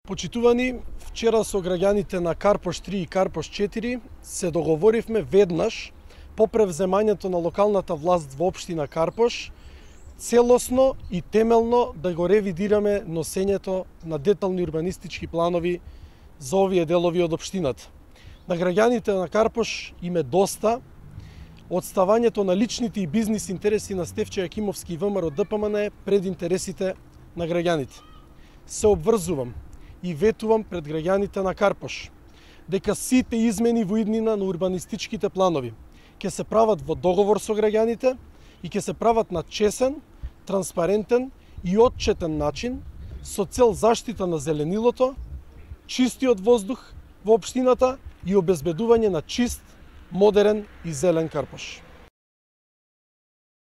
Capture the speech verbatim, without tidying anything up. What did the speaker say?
Почитувани, вчера со граѓаните на Карпош три и Карпош четири се договоривме веднаш по превземањето на локалната власт во општина Карпош целосно и темелно да го ревидираме носењето на детални урбанистички планови за овие делови од општината. На граѓаните на Карпош им е доста од ставањето на личните и бизнис интереси на Стефче Јакимовски и ВМРО Д П М Н пред интересите на граѓаните. Се обврзувам и ветувам пред граѓаните на Карпош дека сите измени во иднина на урбанистичките планови ќе се прават во договор со граѓаните и ќе се прават на чесен, транспарентен и отчетен начин со цел заштита на зеленилото, чистиот воздух во општината и обезбедување на чист, модерен и зелен Карпош.